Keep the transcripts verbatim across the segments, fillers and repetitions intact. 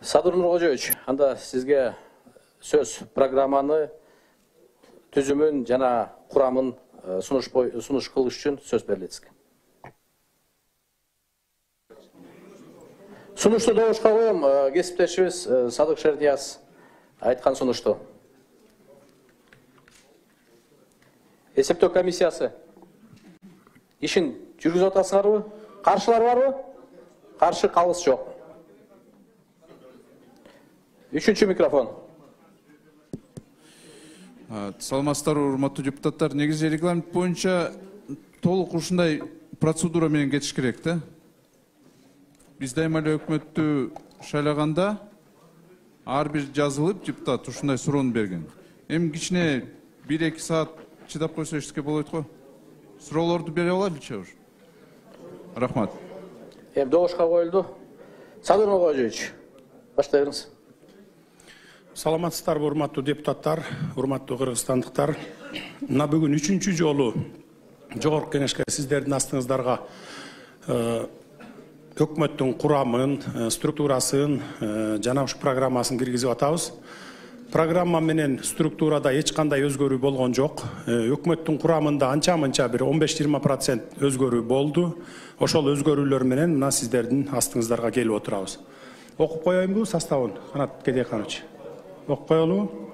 Садыр Нуркожоевич, анда сизге сөз программаны түзүмүн жана курамын сунуш сунуш кылыш үчүн сөз берилет сизге. Сунушту добушка коем, кесиптешибиз Садык Шернияз айткан сунушту. Эсептөө комиссиясы ишин жүргүзүп атасыңарбы? Каршылар барбы? Каршы калыс жок. Үчүнчү микрофон. Саламатсыздарбы, урматтуу депутаттар. Негизи регламент боюнча толук ушундай процедура менен кетиш керек да. Биз дайыма эле өкмөттү шайлаганда ар бир жазылып депутат ушундай суроону берген. Эми кичине бир эки саат чыдап койсо эчтеке болбойт го. Суроолорду бере алайлычы уж. Рахмат. Эми добушка коюлду. Садыр Нуркожоевич, баштайбыз. Саламатсыздарбы, урматтуу депутаттар, урматтуу кыргызстандыктар. Мына бүгүн үчүнчү жолу жогорку кеңешке сиздердин астыңыздарга өкмөттүн курамын, структурасын жана ушу программасын киргизип атабыз. Программа менен структурада эч кандай өзгөрүү болгон жок. Өкмөттүн курамында анча-мынча бир он беш жыйырма процент өзгөрүү болду. Ошол өзгөрүүлөр менен мына сиздердин астыңыздарга келип отурабыз. Окуп коеюнбу составын, Канат Кедеканович? Окуп коелу.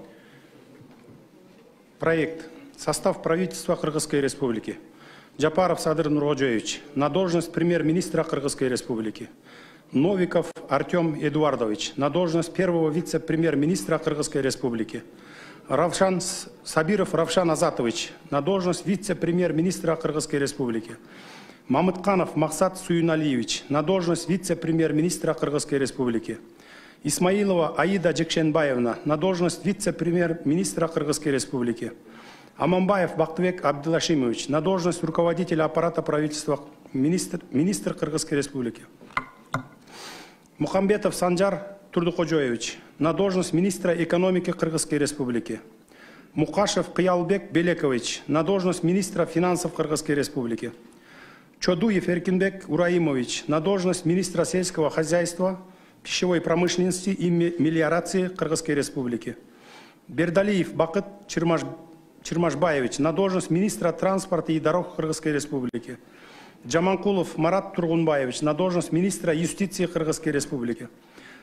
Проект. Состав правительства Кыргызской Республики. Жапаров Садыр Нуркожоевич на должность премьер-министра Кыргызской Республики. Новиков Артем Эдуардович на должность первого вице-премьер-министра Кыргызской Республики. Равшан Сабиров Равшан Азатович на должность вице-премьер-министра Кыргызской Республики. Мамытканов Максат Суюналиевич на должность вице-премьер-министра Кыргызской Республики. Исмаилова Аида Жекшенбаевна на должность вице-премьер-министра Кыргызской Республики. Аманбаев Бактыбек Абдылашимович на должность руководителя аппарата правительства министр, министр Кыргызской Республики. Мухамбетов Санжар Турдукожоевич на должность министра экономики Кыргызской Республики. Мукашев Кыялбек Белекович на должность министра финансов Кыргызской Республики. Чодуев Эркинбек Ураимович на должность министра сельского хозяйства, пищевой промышленности и мелиорации Кыргызской Республики. Бердалиев Бакыт Чирмаш, Чирмашбаевич на должность министра транспорта и дорог Кыргызской Республики. Джаманкулов Марат Тургунбаевич на должность министра юстиции Кыргызской Республики.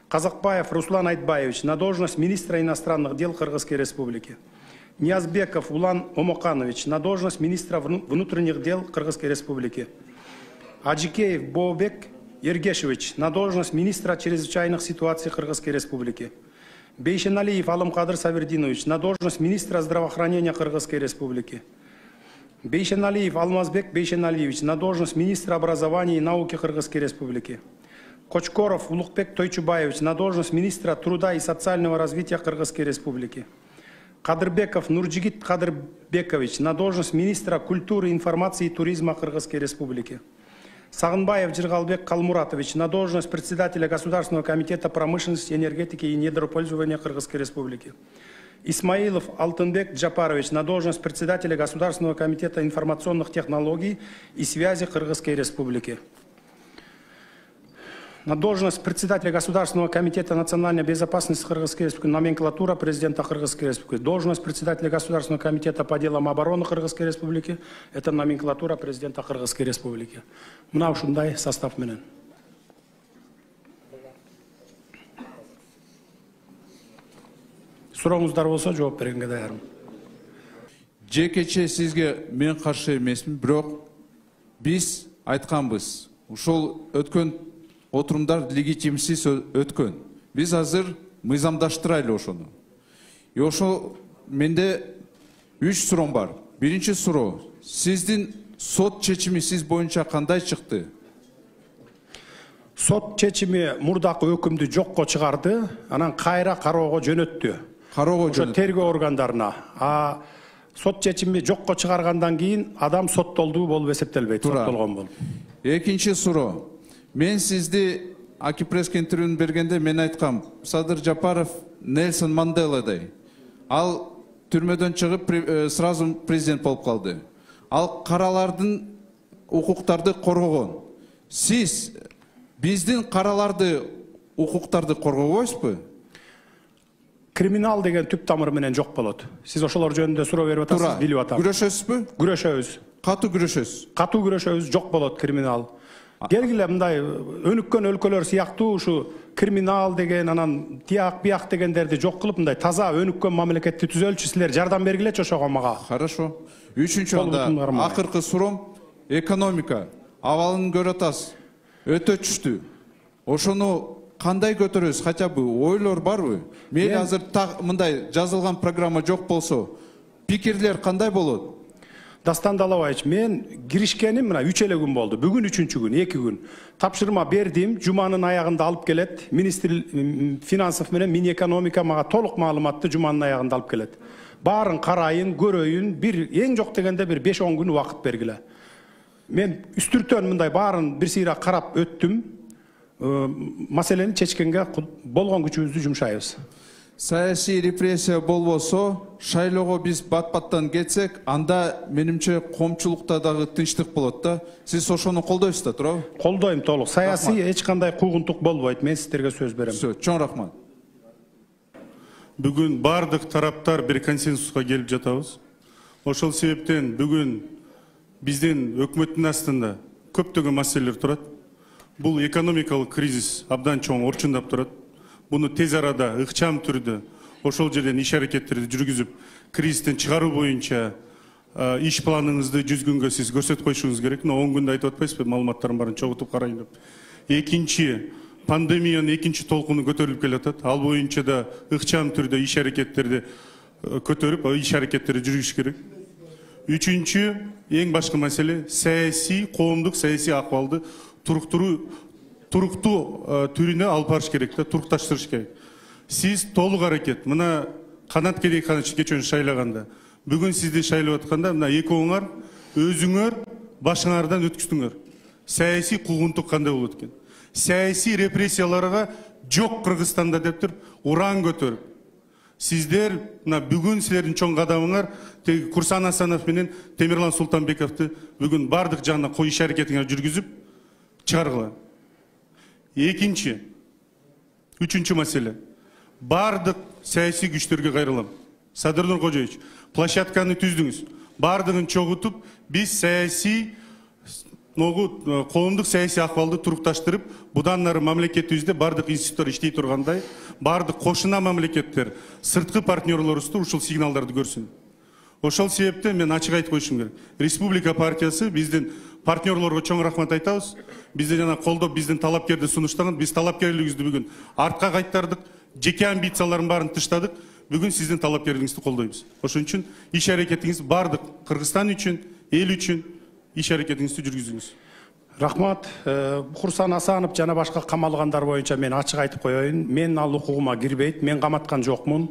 Казакбаев Руслан Айтбаевич на должность министра иностранных дел Кыргызской Республики. Ниязбеков Улан Омоканович на должность министра внутренних дел Кыргызской Республики. Аджикеев Бообек Ергешевич на должность министра чрезвычайных ситуаций Кыргызской Республики. Бейшеналиев Алымкадыр Савердинович на должность министра здравоохранения Кыргызской Республики. Бейшеналиев Алмазбек Бейшеналиевич на должность министра образования и науки Кыргызской Республики. Кочкоров Улукбек Тойчубаевич на должность министра труда и социального развития Кыргызской Республики. Кадырбеков Нурджигит Кадырбекович на должность министра культуры, информации и туризма Кыргызской Республики. Сагынбаев Жиргалбек Калмуратович на должность председателя Государственного комитета промышленности, энергетики и недропользования Кыргызской Республики. Исмаилов Алтынбек Джапарович на должность председателя Государственного комитета информационных технологий и связи Кыргызской Республики. На должность председателя Государственного комитета национальной безопасности Кыргызской Республики, номенклатура президента Кыргызской Республики. Должность председателя Государственного комитета по делам обороны Кыргызской Республики – это номенклатура президента Кыргызской Республики. Мына ушундай состав менен. Сурооңуздар болсо жооп бергенге даярмын. Жекече сизге мен каршы эмесмин, бирок биз айтканбыз. Ушул өткөн отурумдар легитимсиз өткөн. Биз азыр мыйзамдаштырайлы ошону. И ошо менде үч суроом бар. Биринчи суроо: сиздин сот чечими сиз боюнча кандай чыкты? Сот чечими мурдакы өкүмдү жокко чыгарды, анан кайра кароого жөнөттү. Кароого жөнөттү. Ошо тергөө органдарына. А сот чечими жокко чыгаргандан кийин адам соттолду болуп эсептелбейт, соттолгон болуп. Экинчи суроо: мен сизди Акипресс интервьюн бергенде мен айткам, Садыр Жапаров Нельсон Манделадай. Ал түрмөдөн чыгып сразу президент болуп калды. Ал каралардын укуктарды коргогон. Сиз биздин караларды укуктарды коргобойсузбу? Криминал деген түп тамыры менен жок болот. Сиз ошолор жөнүндө суроо берип атасыз, билип атам. Күрөшөсүзбү? Күрөшөбүз. Катуу күрөшөсүз. Катуу күрөшөбүз, жок болот криминал. Келгиле мындай өнүккөн өлкөлөр сыяктуу ушу криминал деген, анан тияк бияк дегендерди жок кылып, мындай таза өнүккөн мамлекетти түзөлчү, силер жардам бергилечи ошого мага. Хорошо. Үчүнчү анда акыркы суроом экономика. Абалын көрүп атасыз. Өтө түштү. Ошону кандай көтөрөбүз? Хотя бы ойлор барбы? Мейли азыр мындай жазылган программа жок болсо, пикирлер кандай болот? Дастан Далабаевич, мен киришкеним мына үч эле күн болду. Бүгүн үчүнчү күн, эки күн. Тапшырма бердим, жуманын аягында алып келет. Министр финансов менен Минэкономика мага толук маалыматты жуманын аягында алып келет. Баарын карайын, көрөйүн, бир эң жок дегенде бир беш он күн убакыт бергиле. Мен үстүртөн мындай баарын бир сыйра карап өттүм. Маселени чечкенге болгон күчүбүздү жумшайбыз. Саясий репрессия болбосо, шайлоого биз бат-баттан кетсек, анда менимче коомчулукта дагы тынчтык болот да. Сиз ошону колдойсуз да, туурабы? Колдойм толук. Саясий эч кандай куугунтук болбойт. Мен сиздерге сөз берем. Сөз, чоң рахмат. Бүгүн бардык тараптар бир консенсуска келип жатабыз. Ошол себептен бүгүн биздин өкмөттүн астында көптөгөн маселелер турат. Бул экономикалык кризис абдан чоң орчундап турат. Буну тез арада ыкчам түрдө ошол жерден иш аракеттерди жүргүзүп, кризистен чыгаруу боюнча иш планыңызды жүз күнгө сиз көрсөтүп коюшуңуз керек. Но он күндө айтып атпайсызбы, маалыматтардын баарын чогултуп карайын деп. Экинчи, пандемиянын экинчи толкуну көтөрүлүп келатат. Ал боюнча да ыкчам түрдө иш аракеттерди көтөрүп, иш аракеттерди жүргүзүш керек. Үчүнчү, эң башкы маселе саясий, коомдук саясий акыбалды туруктуруу туруктуу түрүнө алып барыш керек да, турукташтырыш керек. Сиз толук аракет, мына Канат Керейханович кечөө шайлаганда, бүгүн сизди шайлап атканда, мына экөөңөр өзүңөр башыңардан өткүздүңөр. Саясий куугунтук кандай болот экен? Саясий репрессияларга жок Кыргызстанда деп туруп, уран көтөрүп. Сиздер мына бүгүн силердин чоң кадамыңар теги Курсан Асанов менен Темирлан Султанбековду бүгүн бардык жагына кой иш аракетиңер жүргүзүп чыгаргыла. Экинчи, үчүнчү маселе. Бардык саясий күчтөргө кайрылам. Садыр Кожоевич, площадканы түздүңүз. Бардыгын чогутуп, биз саясий коомдук саясий акыбалды турукташтырып, будан нары мамлекетибизде бардык институттар иштей тургандай, бардык кошуна мамлекеттер, сырткы партнерлорубузду ушул сигналдарды көрсүн. Ошол себептен мен ачык айтып коюшум керек. Республика партиясы биздин партнерлорго чоң рахмат айтабыз. Бизди жана колдоп, биздин талапкерди сунуштаган, биз талапкерлигибизди бүгүн артка кайтардык, жеке амбициялардын баарын тыштадык. Бүгүн сиздин талапкерлигиңизди колдойбуз. Ошон үчүн иш аракетиңиз бардык Кыргызстан үчүн, эл үчүн иш аракетиңизди жүргүзүңүз. Рахмат. Курсан Асанов жана башка камалгандар боюнча мен ачык айтып коеюн. Мен ал укугума кирбейт, мен каматкан жокмун.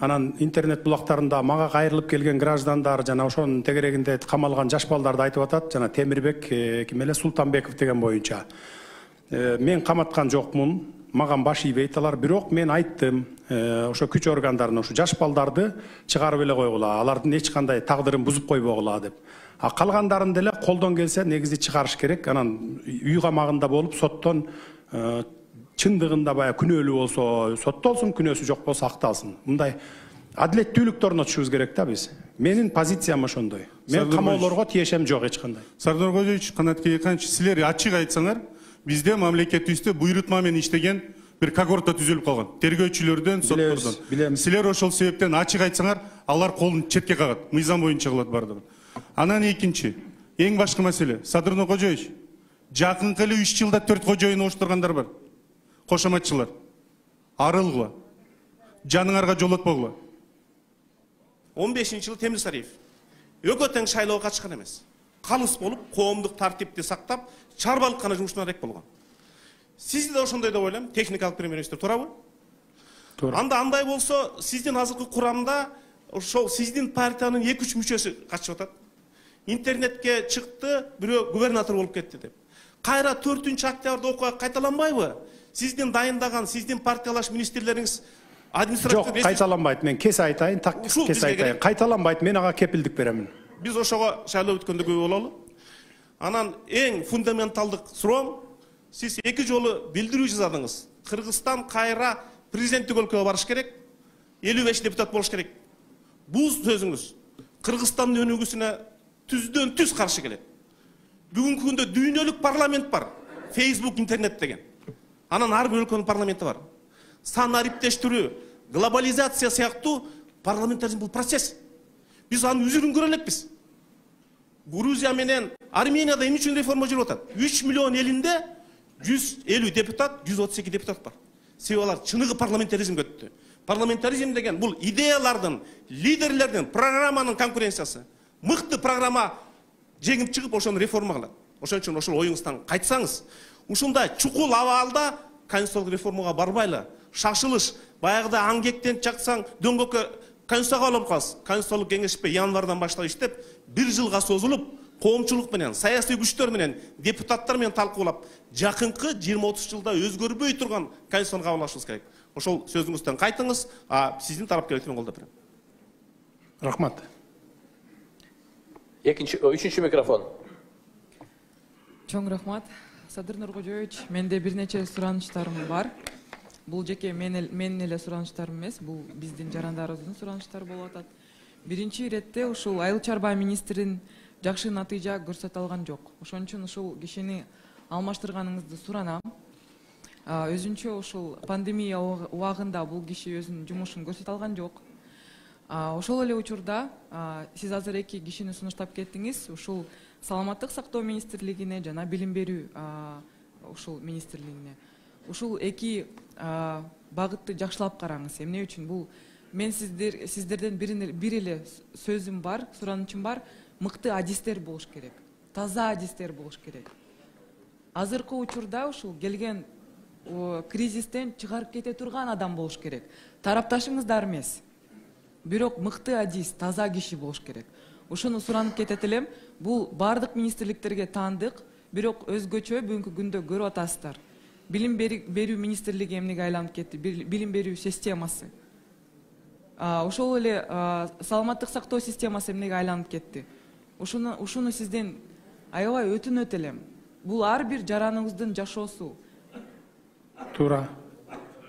Анан интернет булактарында мага кайрылып келген граждандар жана ошонун тегерегинде камалган жаш балдарды айтып атат, жана Темирбек ким эле Султанбеков деген боюнча. Мен каматкан жокмун, маган баш ийбейт алар, бирок мен айттым, ошо күч органдарына ушу жаш балдарды чыгарып эле койгула, алардын эч кандай тагдырын бузуп койбогула деп. А калгандарын деле колдон келсе негизи чыгарыш керек. Анан үй камагында болуп соттон чындыгында баягы күнөөлүү болсо соттолсун, күнөөсү жок болсо акталсын. Мындай адилеттүүлүктү орнотушубуз керек да биз. Менин позициям ошондой. Мен камоолорго тиешем жок эч кандай. Сардор Кожоевич, Канат Керейханович, силер ачык айтсаңар, бизде мамлекетибизде буйрутма менен иштеген бир когорта түзүлүп калган. Тергөөчүлөрдөн, соттордон. Силер ошол себептен ачык айтсаңар, алар колун четке кагат, мыйзам боюнча кылат бардыгын. Анан экинчи, эң башкы маселе, Садыр Кожоевич, жакынкы эле үч жылда төрт кожоюн оштургандар бар. Кошоматчылар. Арылгыла. Жаныңарга жолотпогула. он бешинчи жылы Темир Сариев экөө тең шайлоого катышкан эмес. Калыс болуп, коомдук тартипти сактап, чарбалыккана жумушуна арек болгон. Сиз да ошондой деп ойлойм, техникалык премьер-министр, туурабы? Туура. Анда андай болсо, сиздин азыркы курамда ошол сиздин партиянын эки үч мүчөсү катышып атат. Интернетке чыкты, бирөө губернатор болуп кетти деп. Кайра төртүнчү октябрда окуя кайталанбайбы? Сиздин дайындаган, сиздин партиялаш министрлериңиз административдик... Жок, кайталанбайт. Мен кесе айтайын, так кесе айтайын. Кайталанбайт, мен ага кепилдик беремин. Биз ошого шайлоо өткөндө күбө бололу. Анан эң фундаменталдык суроом, сиз эки жолу билдирүү жаздыңыз Кыргызстан кайра президенттик өлкөгө барыш керек, элүү беш депутат болуш керек. Бул сөзүңүз Кыргызстандын өнүгүүсүнө түздөн түз каршы келет. Бүгүнкү күндө дүйнөлүк парламент бар. Facebook, интернет деген. Анан ар бир өлкөнүн парламенти бар. Сан ариптештирүү, глобализация сыяктуу парламентаризм бул процесс. Биз анын үзүрүн көрө элекпиз. Грузия менен Арменияда эмне үчүн реформа жүрүп атат? үч миллион элинде жүз элүү депутат, жүз отуз эки депутат бар. Себеби алар чыныгы парламентаризмге өттү. Парламентаризм деген бул идеялардын, лидерлердин, программанын конкуренциясы. Мыкты программа жеңип чыгып ошону реформа кылат. Ошон үчүн ошол оюңуздан кайтсаңыз, ушундай чукул абалда конституциялык реформага барбайлы, шашылыш, баягыда аңгектен чаксаң дөңгөккө конституцияга алып каласыз. Конституциялык кеңешпе январдан баштап иштеп, бир жылга созулуп, коомчулук менен, саясий күчтөр менен, депутаттар менен талкуулап, жакынкы жыйырма отуз жылда өзгөрбөй турган конституцияны кабыл алышыбыз керек. Ошол сөзүңүздөн кайтыңыз, а сиздин тарапкерликти мен колдоп берем. Рахмат. Экинчи, үчүнчү микрофон. Чоң рахмат. Садыр Нуркожоевич, менде бир нече суранычтарым бар. Бул жеке менин эле суранычтарым эмес, бул биздин жарандарыбыздын суранычтары болуп атат. Биринчи иретте ушул Айыл чарба министрин жакшы натыйжа көрсөтө алган жок. Ошон үчүн ушул кишини алмаштырганыңызды суранам. Өзүнчө ушул пандемия убагында бул киши өзүнүн жумушун көрсөтө алган жок. Ошол эле учурда сиз азыр эки кишини сунуштап кеттиңиз. Ушул Саламаттык сактоо министрлигине жана билим берүү ушул министрлигине. Ушул эки багытты жакшылап караңыз. Эмне үчүн бул мен сиздер сиздерден бир эле сөзүм бар, суранычым бар. Мыкты адистер болуш керек. Таза адистер болуш керек. Азыркы учурда ушул келген кризистен чыгарып кете турган адам болуш керек. Тарапташыңыздар эмес. Бирок мыкты адис, таза киши болуш керек. Ушуну суранып кетет элем. Бул бардык министрликтерге таандык, бирок өзгөчө бүгүнкү күндө көрүп атасыздар. Билим берүү министрлиги эмнеге айланып кетти? Билим берүү системасы. Ошол эле саламаттык сактоо системасы эмнеге айланып кетти? Ушуну ушуну сизден аябай өтүнөт элем. Бул ар бир жараныңыздын жашоосу. Туура.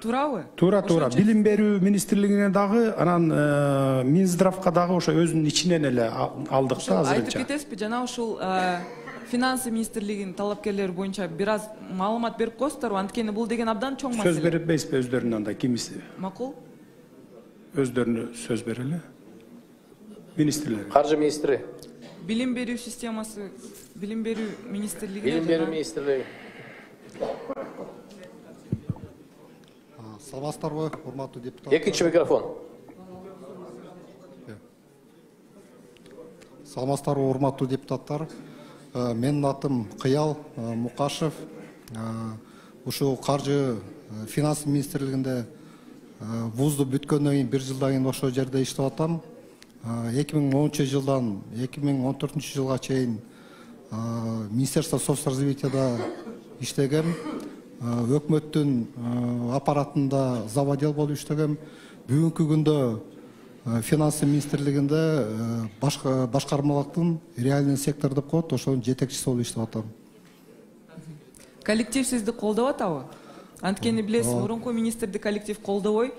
Туурабы? Туура, туура. Билим берүү министрлигине дагы, анан Минздравка дагы ошо өзүнүн ичинен эле алдык да азырынча. Айтып кетесизби, жана ушул финансы министрлигинин талапкерлери боюнча бир аз маалымат берип коесуздарбы? Анткени бул деген абдан чоң маселе. Сөз бербейсизби өздөрүнө анда кимиси? Макул. Өздөрүнө сөз берели. Министрлер. Каржы министри. Билим берүү системасы, билим берүү министрлиги. Билим берүү министрлиги. Саламатсыздарбы, урматтуу депутат. Экинчи микрофон. Саламатсыздарбы, урматтуу депутаттар. Менин атым Кыял Мукашев. Ушул каржы финансы министрлигинде вузду бүткөндөн кийин бир жылдан кийин ошол жерде иштеп атам. эки миң онунчу жылдан эки миң он төртүнчү жылга чейин Министерство соцразвитияда иштегем. Өкмөттүн аппаратында заводел болуп иштегем. Бүгүнкү күндө финансы министрлигинде башкармалыктын реальный сектор деп коет, ошонун жетекчиси болуп иштеп атам. Коллектив сизди колдоп атабы? Анткени билесиз, мурунку министрди коллектив колдобой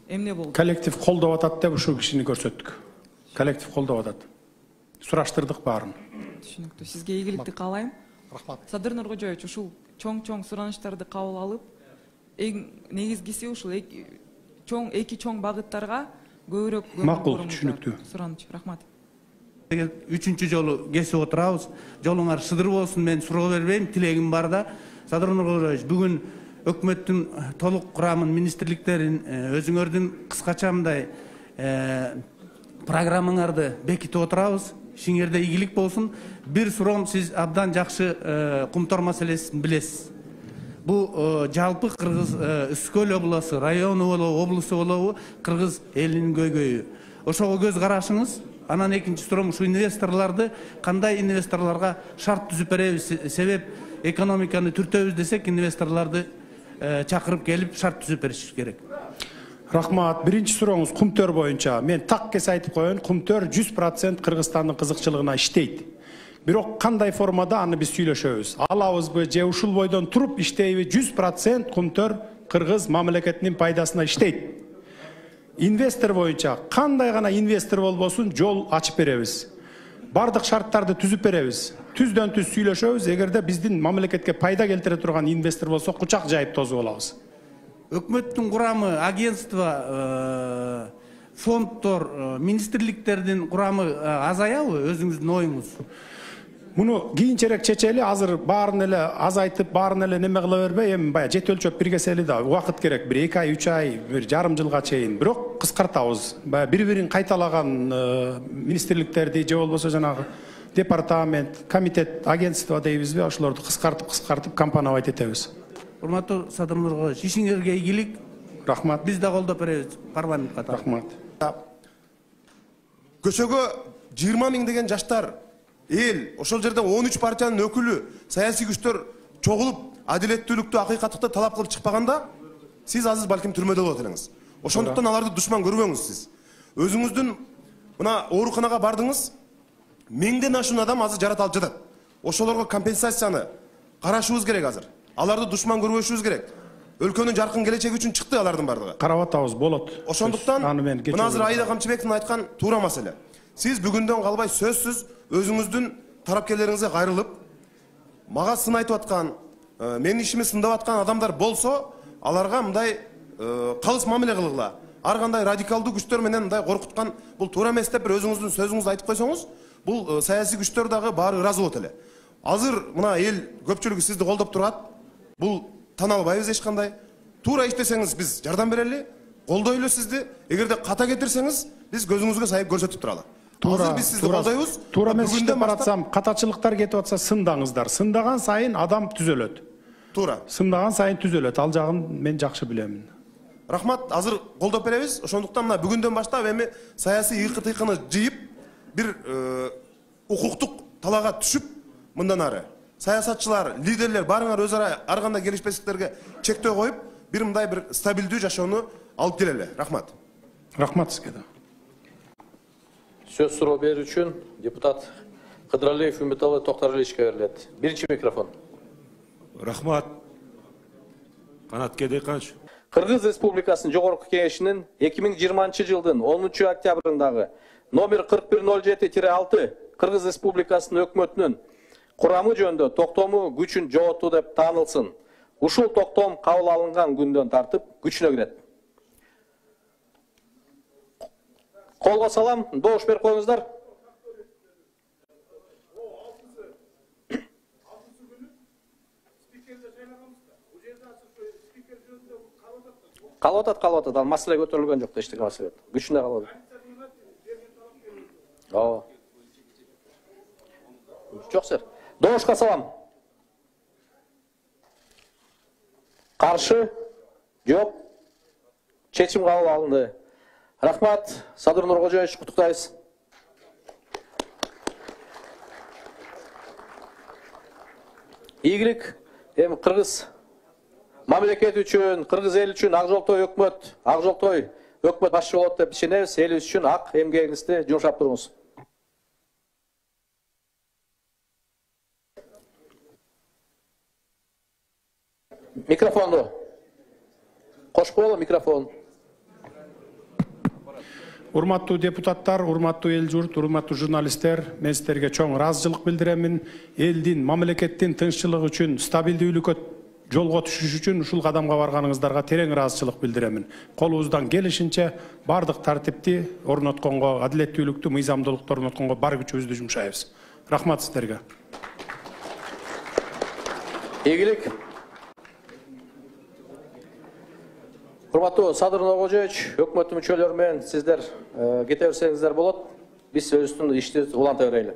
эмне болду? Коллектив колдоп атат деп ушул кишини көрсөттүк. Коллектив колдоп атат. Сураштырдык баарын. Түшүнүктүү. Сизге ийгиликти каалайм. Рахмат. Садыр Нуркожоевич, ушул чоң-чоң суранычтарды кабыл алып, эң негизгиси ушул чоң эки чоң багыттарга көбүрөөк макул, түшүнүктүү. Сураныч. Рахмат. Үчүнчү жолу кесип отурабыз. Жолуңар шыдыр болсун, мен суроо бербейм, тилегим бар да. Садыр Нуркожоевич, бүгүн өкмөттүн толук курамын, министрликтерин өзүңөрдүн кыскача мындай программаңарды бекитип отурабыз. Ишиңерде ийгилик болсун. Бир суроом, сиз абдан жакшы кумтор маселесин билесиз. Бул жалпы Кыргыз Үскөл облусу, району болобу, облусу болобу, Кыргыз элинин көйгөйү. Ошого көз карашыңыз. Анан экинчи суроом, ушу инвесторлорду кандай инвесторлорго шарт түзүп беребиз? Себеп экономиканы түртөбүз десек, инвесторлорду чакырып келип шарт түзүп бериш керек. Рахмат. Биринчи сурооңуз Кумтөр боюнча. Мен так кесе айтып коеюн, Кумтөр жүз процент Кыргызстандын кызыкчылыгына иштейт. Бирок кандай формада аны биз сүйлөшөбүз. Алабызбы же ушул бойдон туруп иштейби? жүз процент Кумтөр кыргыз мамлекетинин пайдасына иштейт. Инвестор боюнча кандай гана инвестор болбосун жол ачып беребиз. Бардык шарттарды түзүп беребиз. Түздөн түз сүйлөшөбүз. Эгерде биздин мамлекетке пайда келтире турган инвестор болсо кучак жайып тосуп алабыз. Өкмөттүн курамы, агентство, фонддор, министрликтердин курамы азаябы өзүңүздүн оюңуз? Муну кийинчерээк чечели, азыр баарын эле азайтып, баарын эле неме кыла бербей, эми баягы жет өлчөп биргесели да убакыт керек. Бир эки ай, үч ай, бир жарым жылга чейин. Бирок кыскартабыз. Баягы бири-бирин кайталаган министрликтерди же болбосо жанагы департамент, комитет, агентство дейбизби, ошолорду кыскартып-кыскартып компоновать этебиз. Урматтуу Садыр Нуркожоевич, ишиңерге ийгилик. Рахмат. Биз да колдоп беребиз парламент катары. Рахмат. Көчөгө жыйырма миң деген жаштар эл, ошол жерде он үч партиянын өкүлү, саясий күчтөр чогулуп, адилеттүүлүктү, акыйкаттыкты талап кылып чыкпаганда, сиз азыр балким түрмөдө болот элеңиз. Ошондуктан аларды душман көрбөңүз сиз. Өзүңүздүн мына ооруканага бардыңыз, миңден ашуун адам азыр жаратылып жатат. Ошолорго компенсацияны карашыбыз керек азыр. Аларды душман көрбөшүбүз керек. Өлкөнүн жаркын келечеги үчүн чыкты алардын бардыгы. Карап атабыз, болот. Ошондуктан мына азыр Аида Камчыбековдун айткан туура маселе. Сиз бүгүндөн калбай сөзсүз өзүңүздүн тарапкерлериңизге кайрылып, мага сын айтып аткан, менин ишими сындап аткан адамдар болсо, аларга мындай калыс мамиле кылгыла. Ар кандай радикалдуу күчтөр менен мындай коркуткан бул туура эмес деп бир өзүңүздүн сөзүңүздү айтып койсоңуз, бул саясий күчтөр дагы баары ыраазы болот эле. Азыр мына эл көпчүлүгү сизди колдоп турат. Бул тана албайбыз эч кандай. Туура иштесеңиз биз жардам берели, колдойлу сизди. Эгерде ката кетирсеңиз, биз көзүңүзгө сайып көрсөтүп туралы. Азыр биз сизди колдойбуз. Туура эмес иштеп баратсам, катачылыктар кетип атса сындаңыздар. Сындаган сайын адам түзөлөт. Туура. Сындаган сайын түзөлөт. Ал жагын мен жакшы билемин. Рахмат, азыр колдоп беребиз. Ошондуктан мына бүгүндөн баштап эми саясий ыйкы-тыйкыны жыйып, бир укуктук талаага түшүп, мындан ары саясатчылар, лидерлер баарыңар өз ара ар кандай келишпестиктерге чектөө коюп, бир мындай бир стабилдүү жашоону алып келели. Рахмат. Рахмат сизге да. Сөз суроо берүү үчүн депутат Кыдыралиев Үмүталы Токтаралиевичке берилет. Биринчи микрофон. Рахмат. Канат Кедейканович. Кыргыз Республикасынын Жогорку Кеңешинин эки миң жыйырманчы жылдын онунчу октябрындагы номер кырк бир ноль жети алты Кыргыз Республикасынын өкмөтүнүн курамы жөнүндө токтому күчүн жоготуу деп таанылсын. Ушул токтом кабыл алынган күндөн тартып күчүнө кирет. Колго салам, добуш берип коюңуздар. Калып атат, калып атат. Ал маселе көтөрүлгөн жок, эчтеке маселе. Күчүнө калып атат. Ооба. Жок сер. Добушка салам. Каршы? Жок. Чечим кабыл алынды. Рахмат, Садыр Нуркожоевич, куттуктайбыз. Ийгилик, эми Кыргыз мамлекет үчүн, Кыргыз эл үчүн Ак Жолтой өкмөт, Ак Жолтой өкмөт башчы болот деп ишенебиз. Элибиз үчүн ак эмгегиңизди жумшап туруңуз. Микрофонду. Кош коелу микрофон. Урматтуу депутаттар, урматтуу эл журт, урматтуу журналисттер, мен сиздерге чоң ыраазычылык билдиремин. Элдин, мамлекеттин тынччылыгы үчүн, стабилдүүлүккө жолго түшүш үчүн ушул кадамга барганыңыздарга терең ыраазычылык билдиремин. Колубуздан келишинче бардык тартипти орнотконго, адилеттүүлүктү, мыйзамдуулукту орнотконго бар күчүбүздү жумшайбыз. Рахмат сиздерге. Ийгилик. Урматтуу Садыр Нуркожоевич, өкмөттүн мүчөлөрү менен сиздер кете берсеңиздер болот. Биз өзүбүздүн ишти уланта берели.